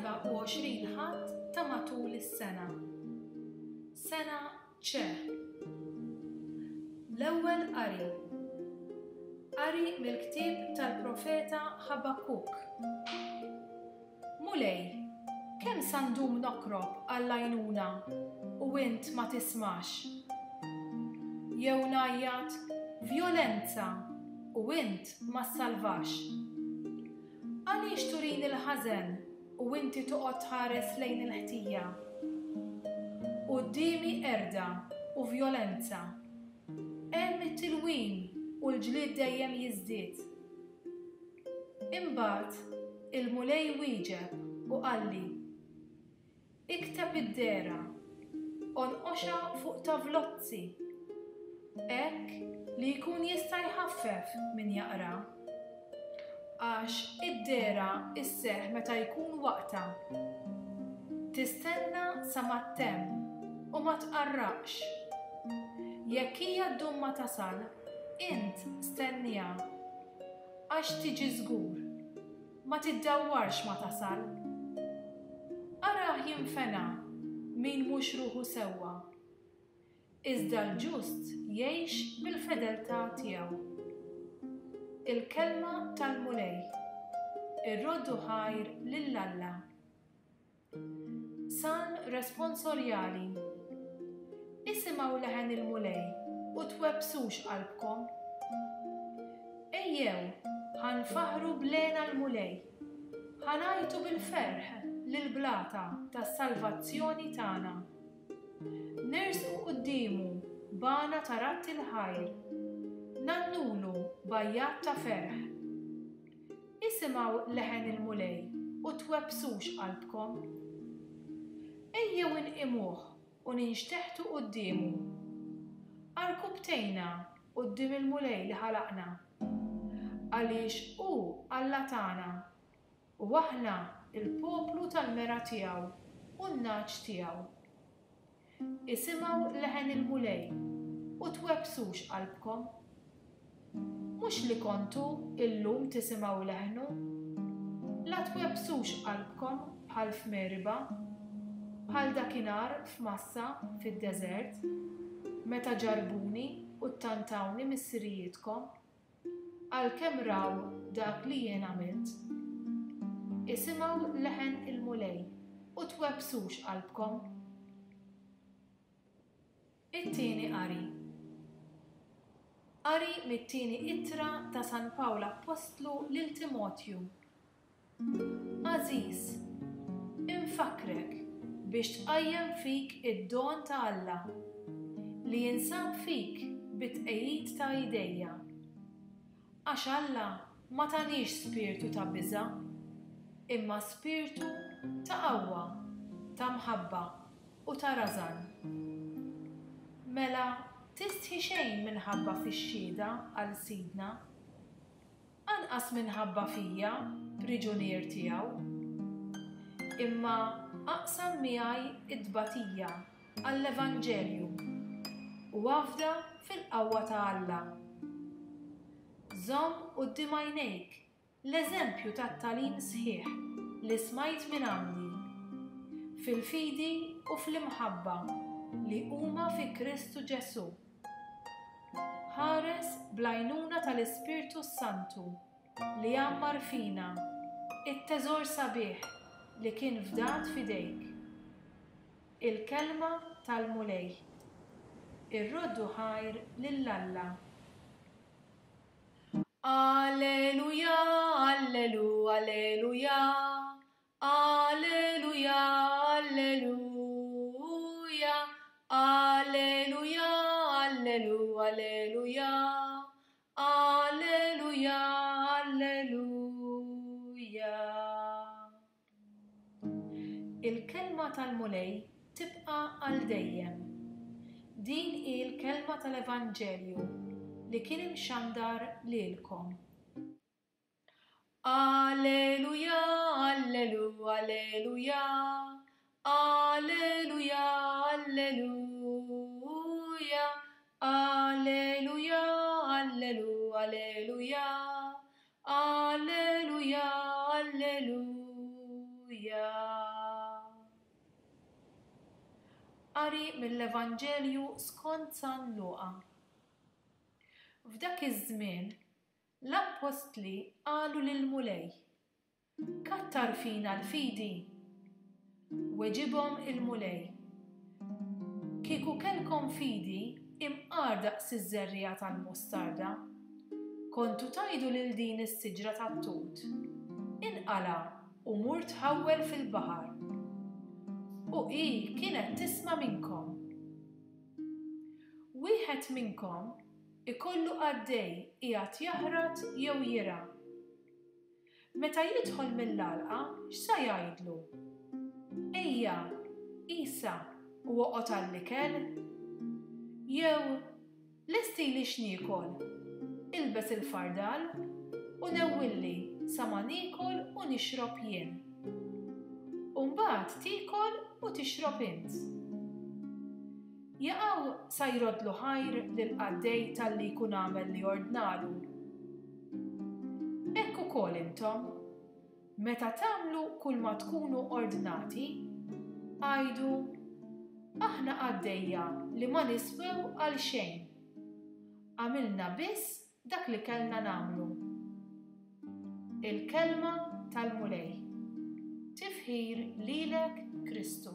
L-24 Ħadd ta' matul is-sena. Sena C. L-Ewwel Qari. Qari mill-ktieb tal-profeta Ħabakkuk. Mulej, kemm sa ndum nokrob għall-għajnuna u int ma tismax? Jew ngħajjat, Vjolenza! u int ma ssalvax? Għaliex turini l-ħażen u inti toqgħod tħares lejn il-ħtija? Quddiemi qerda u vjolenza. Hemm it-tilwim u l-ġlied dejjem jiżdied. Imbagħad il-Mulej wieġeb u qalli, Ikteb id-dehra, onqoxha fuq tavlozzi, hekk li jkun jista' jħaffef min jaqra. Għax id-dehra sseħħ meta jkun waqtha. Tistenna sa ma ttemm u ma tqarraqx. Jekk hija ddum ma tasal, int stenniha. Għax tiġi żgur. Ma tiddawwarx ma tasal. Arah jinfena min mhux ruħu sewwa. Iżda l-ġust jgħix bil-fedeltà tiegħu. Il-Kelma tal-Mulej. Irroddu ħajr lil Alla. Salm responsorjali. Isimgħu leħen il-Mulej u twebbsux qalbkom. Ejjew, ħa nfaħħru b'lena l-Mulej, ħa ngħajtu bil-ferħ lill-blata tas-salvazzjoni tagħna. Nersqu quddiemu b'għana ta' radd il-ħajr, ngħannulu b'għajjat ta' ferħ. Isimgħu leħen il-Mulej u twebbsux qalbkom. Ejjew inqimuh u ninxteħtu quddiemu. Għarkupptejna quddiem il-Mulej li ħalaqna. Għaliex hu Alla tagħna, u aħna l-poplu tal-mergħa tiegħu u n-nagħaġ tiegħu. Isimgħu leħen il-Mulej u twebbsux qalbkom. Mhux li kontu illum tisimgħu leħnu. La twebbsux qalbkom bħal f'Meriba, bħal dakinhar f'Massa fid-deżert, meta ġarrbuni u ttantawni missirijietkom. Għalkemm raw dak li jien għamilt. Isimgħu leħen il-Mulej u twebbsux qalbkom. It-tieni qari. Qari mit-tieni ittra ta' San Pawl Appostlu lil Timotju. Għażiż, infakkrek biex tqajjem fik id-don ta' Alla, li jinsab fik bit-tqegħid ta' idejja. Għax Alla ma taniex spirtu ta' biża', imma spirtu ta' qawwa, ta' mħabba u ta' rażan. Mela tistħi xejn minħabba fix-xhieda għal Sidna. Anqas minħabba fija, priġunier tiegħu. Imma aqsam miegħi t-tbatija għall-evanġelju u afda fil-qawwa ta' Alla. Żomm quddiem għajnejk l-eżempju tat-tagħlim sħiħ li smajt mingħandi, fil-fidi u fl-imħabba li huma fi Kristu Ġesù. Ħares bl-għajnuna tal-Ispirtu s-Santu li jgħammar fina, it-teżor sabiħ li kien fdat f'idejk. Il-Kelma tal-Mulej. Irroddu ħajr lil Alla. Alleluja, allelu, alleluja, Alleluja, alleluja, alleluja, allelu, alleluja, alleluja, alleluja. Il-kelma tal-Mulej tibqa' għal dejjem. Din hi l-kelma tal-Evanġelju li kien imxandar lilkom. Alleluja, allelu, alleluja, alleluja, alleluja, alleluja, allelu, alleluja, alleluja, alleluja. Qari mill-Evanġelju skont San Luqa. F'dak iż-żmien, l-appostli qalu lill-Mulej, Kattar fina l-fidi! Weġibhom il-Mulej, Kieku kellkom fidi imqar daqs iż-żerriegħa tal-mustarda, kontu tgħidu lil din is-siġra tat-tut, 'Inqala' u mur tħawwel fil-baħar'. U hi kienet tisma' minnkom. Wieħed minnkom ikollu qaddej qiegħed jaħrat jew jirgħa. Meta jidħol mill-għalqa x'sa jgħidlu? Ejja, isa u oqgħod għall-ikel? Jew, lestili x'niekol, ilbes il-fardal u newwilli sa ma niekol u nixrob jien. U mbagħad tiekol u tixrob int. Jaqaw sa jroddlu ħajr lill-qaddej talli jkun għamel li ordnalu? Hekk ukoll intom, meta tagħmlu kulma tkunu ordnati, għidu, 'Aħna qaddejja li ma niswew għal xejn. Għamilna biss dak li kellna nagħmlu. Il-Kelma tal-Mulej. Tifħir lilek, Kristu.